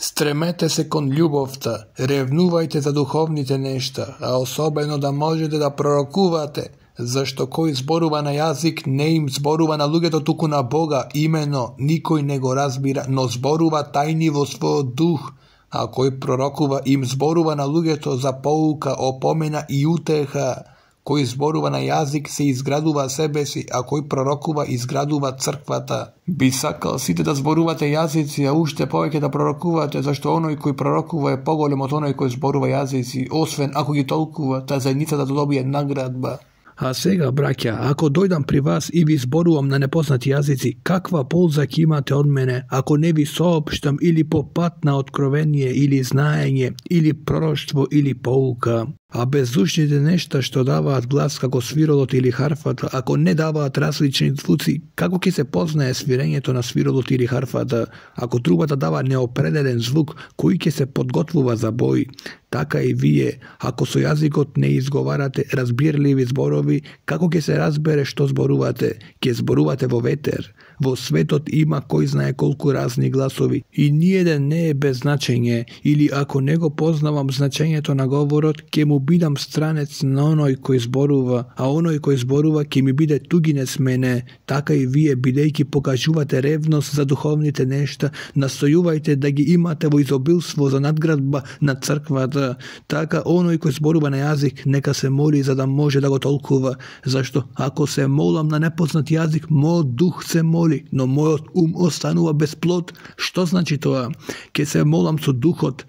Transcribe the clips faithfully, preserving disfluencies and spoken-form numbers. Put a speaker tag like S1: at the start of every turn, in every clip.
S1: Стремете се кон љубовта, ревнувајте за духовните нешта, а особено да можете да пророкувате, зашто кој зборува на јазик не им зборува на луѓето туку на Бога, имено никој не го разбира, но зборува тајни во својот дух, а кој пророкува им зборува на луѓето за поука, опомена и утеха. Кој зборува на јазик се изградува себе си, а кој пророкува изградува црквата. Би сакал сите да зборувате јазици, а уште повеќе да пророкувате, зашто оној кој пророкува е поголем од оној кој зборува јазици, освен ако ги толкува, таа заедницата да добие наградба.
S2: А сега, браќа, ако дојдам при вас и ви зборувам на непознати јазици, каква полза ќе имате од мене, ако не ви соопштам или по пат на откровение, или знаење, или пророштво, или поука? А беззвучните нешта што даваат глас како свиролот или харфата, ако не даваат различни звуци, како ќе се познае свирењето на свиролот или харфата? Ако трубата дава неопределен звук, кој ќе се подготвува за бој? Така и вие, ако со јазикот не изговарате разбирливи зборови, како ќе се разбере што зборувате? Ќе зборувате во ветер. Во светот има кој знае колку разни гласови и ниеден не е без значење, или ако не го познавам значењето на говорот, ќе му бидам странец на оној кој зборува, а оној кој зборува ќе ми биде тугинец мене. Така и вие, бидејќи покажувате ревност за духовните нешта, настојувајте да ги имате во изобилство за надградба на црквата. Така оној кој зборува на јазик, нека се моли за да може да го толкува, зашто ако се молам на непознат јазик, мојот дух се моли, но мојот ум останува без плод. Што значи тоа? Ке се молам со духот,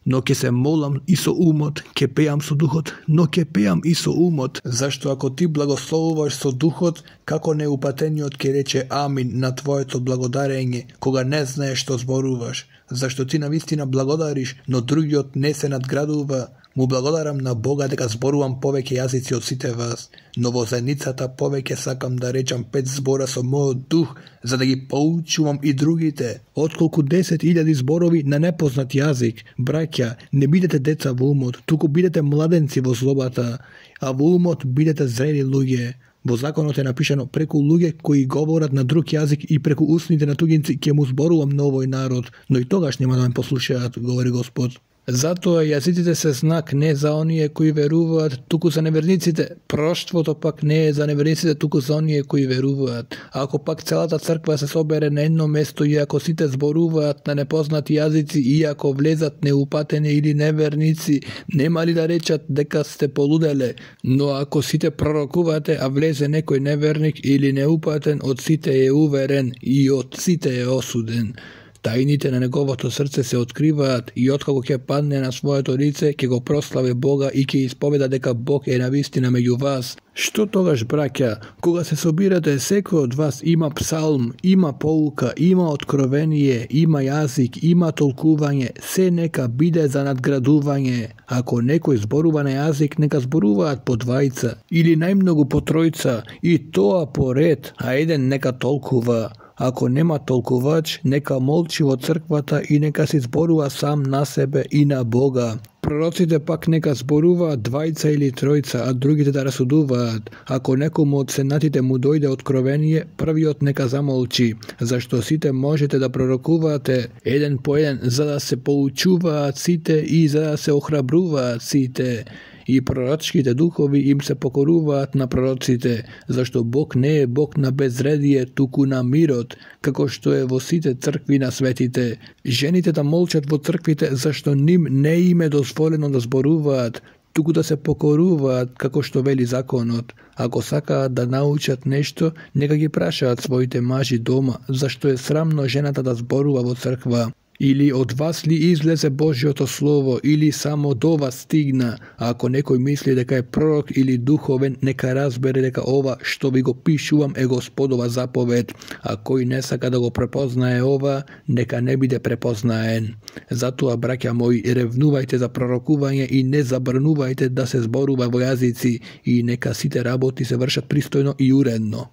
S2: но ке се молам и со умот, ке пеам со духот, но ке пеам и со умот. Зашто ако ти благословуваш со духот, како неупатениот ке рече амин на твоето благодарење, кога не знаеш што зборуваш? Зашто ти навистина благодариш, но другиот не се надградува. Му благодарам на Бога дека зборувам повеќе јазици од сите вас, но во заедницата повеќе сакам да речам пет збора со мојот дух, за да ги поучувам и другите, отколку десет илјади зборови на непознат јазик. Браќа, не бидете деца во умот, туку бидете младенци во злобата, а во умот бидете зрели луѓе. Во законот е напишано преку луѓе кои говорат на друг јазик и преку устните на тугинци ќе му зборувам на овој народ, но и тогаш нема да ме послушаат, говори Господ. Затоа јазиците се знак не за оние кои веруваат, туку за неверниците. Пророштвото пак не е за неверниците, туку за оние кои веруваат. Ако пак целата црква се собере на едно место и ако сите зборуваат на непознати јазици и ако влезат неупатени или неверници, нема ли да речат дека сте полуделе? Но ако сите пророкувате, а влезе некој неверник или неупатен, од сите е уверен и од сите е осуден. Тајните на неговото срце се откриваат и откако ќе падне на своето лице, ќе го прославе Бога и ќе исповеда дека Бог е навистина меѓу вас. Што тогаш, браќа? Кога се собирате, секој од вас има псалм, има поука, има откровение, има јазик, има толкување, се нека биде за надградување. Ако некој зборува на јазик, нека зборуваат по двајца или најмногу по тројца, и тоа по ред, а еден нека толкува. Ако нема толкувач, нека молчи во црквата и нека се зборува сам на себе и на Бога. Пророците пак нека зборуваат двајца или тројца, а другите да расудуваат. Ако некому од сенатите му дојде откровение, првиот нека замолчи, зашто сите можете да пророкувате еден по еден, за да се поучуваат сите и за да се охрабруваат сите. И пророчките духови им се покоруваат на пророците, зашто Бог не е Бог на безредие, туку на мирот, како што е во сите цркви на светите. Жените да молчат во црквите, зашто ним не им е дозволено да зборуваат, туку да се покоруваат, како што вели законот. Ако сакаат да научат нешто, нека ги прашаат своите мажи дома, зашто е срамно жената да зборува во црква. Или од вас ли излезе Божјото Слово, или само до вас стигна? А ако некој мисли дека е пророк или духовен, нека разбере дека ова што ви го пишувам е Господова заповед. А кој не сака да го препознае ова, нека не биде препознаен. Затоа, браќа мои, ревнувајте за пророкување и не забранувајте да се зборува во јазици, и нека сите работи се вршат пристојно и уредно.